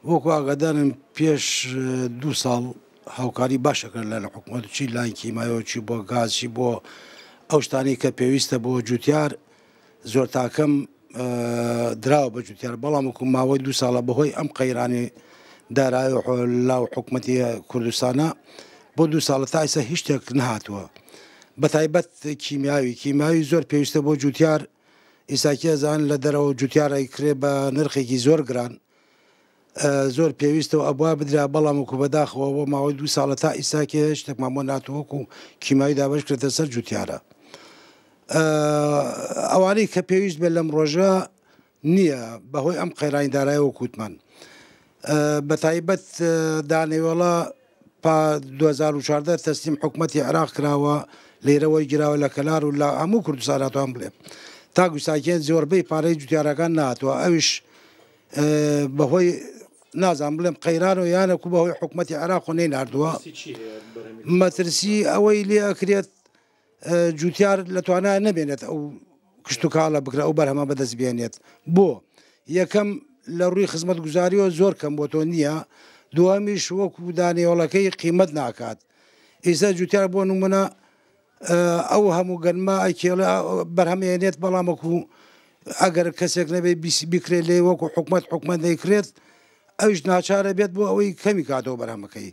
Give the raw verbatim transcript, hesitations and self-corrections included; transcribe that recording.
وەکو ئاگادارن پێش دوو ساڵ هاوکاری باشە کرد لە حکوومەت، چی لاین کیمایەوە، چی بۆ گاز، چی بۆ ئەو شتانەی کە پێویستە بۆ جوتیار، زۆر تاکەم دراوە بە جوتیار. بەڵام وەکو ماوەی دوو ساڵە بەهۆی ئەم قەیرانی دارایی لاو حکوومەتی کوردستانە بۆ دوو ساڵە تا ئێستا هیچ شتێک نەهاتووە، بە تایبەت کیمیاوی. کیمیاوی زۆر پێویستە بۆ جوتیار. ئیساکی ئەزان لە دەرەوە جوتیار ئەیکرێ بە نرخێکی زۆر گران، زۆر پێویستەوە ئەبوا بدرا، بەڵام وەکو بەداخەوە بۆ ماوەی دوو ساڵە تا ئیساکێ شتێکمان بۆ ناتوە وەکو کیمیاوی دابەش کرێتە سەر جوتیارە. ئەوانەی کە پێویست بێت لەم ڕۆژە نییە بەهۆی ئەم قەیرانی دارایی وەکوتمان، بە تایبەت دانەوێڵە پا دوو هەزار و چواردە تەسلیم حکوومەتی عێراق کراوە، لێرەوەی گیراوە لە کەلار و لە هەموو کوردستان هاتووان بڵێ تا گوستاکێن زۆربەی پارەی جوتیارەکان نهاتووە. ئەویش بەهۆی نازان بڵێم قەیران و یانەکو بەهۆی حکوومەتی عێراق و نەیناردووە. مەترسی ئەوەی لێ ئەکرێت جوتیار لە توانای نەبێنێت ئەو کشتتوکاڵە بکرە ئەو بەرهەمە بەدەست بێنێت. بۆ یەکەم لە ڕووی خزمەتگوزاریەوە زۆر کەم بۆ تۆ نییە، دووەمیش وەکو دانێوەڵەکەی قیمەت ناکات. ئێستا جوتیار بۆ نمونە ئەو هەموو گەنمە ئەکێڵە بەرهەمێنێت، بەڵام وەکو ئەگەر کەسێک نەبێت بیکرێت لێ وەکو حکومەت حکومەت دەیکرێت، ئەویش ناچارە بێت بۆ ئەوەی کەمی کاتەوە بەرهەمەکەی.